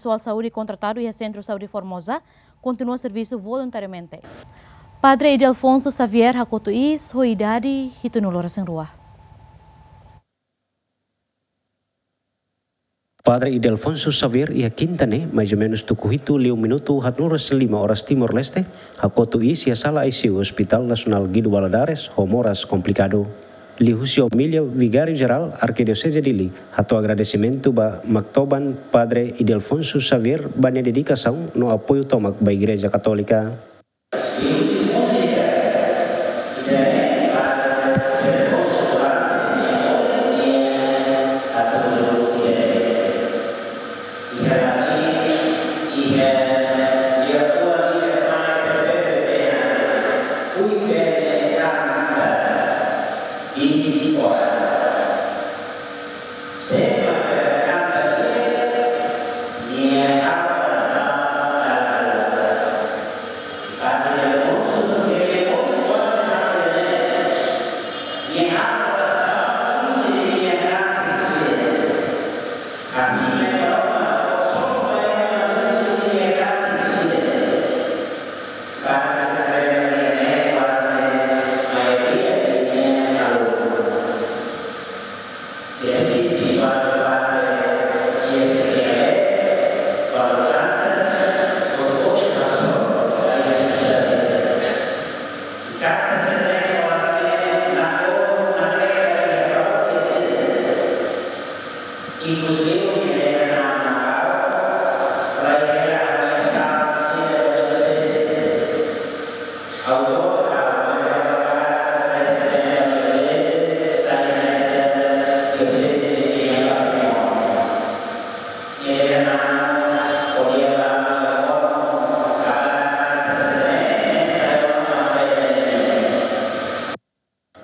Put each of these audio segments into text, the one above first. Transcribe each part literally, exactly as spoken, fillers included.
pesoál saúde kontratadu iha Sentru Saúde Formosa kontinua servisu voluntariamente. Padre Idelfonso Xavier hakotu iis ho idade hitunulu resin rua. Padre Idelfonso Xavier iha kinta ne'e, mais ou menus tuku hitu liu minutu haat lima oras Timor-Leste, hakotu iis iha sala I C U Hospital Nasionál Guido Valadares ho moras komplikadu. Liuhusi omilia, Vigáriu Jerál Arkidioseze Dili hato'o agradesimentu ba Maktoban Padre Idelfonso Xavier ba nia dedikasaun no apoiu tomak ba Igreja Katólika.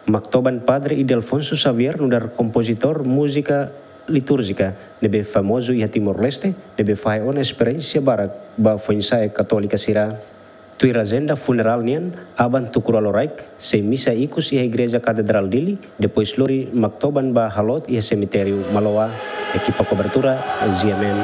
Maktoban Padre Idelfonso Xavier nu'udar kompozitór múzika litúrjika ne'ebé famozu iha Timor-Leste, ne'ebé fahe ona esperiénsia barak ba foin-sa'e katólika sira. Tuir ajenda funerál nian, aban tuku rua loraik sei misa ikus iha Igreja Katedrál Dili, depois lori Maktoban ba haloot iha semitériu Maloa. Ekipa kobertura, G M N.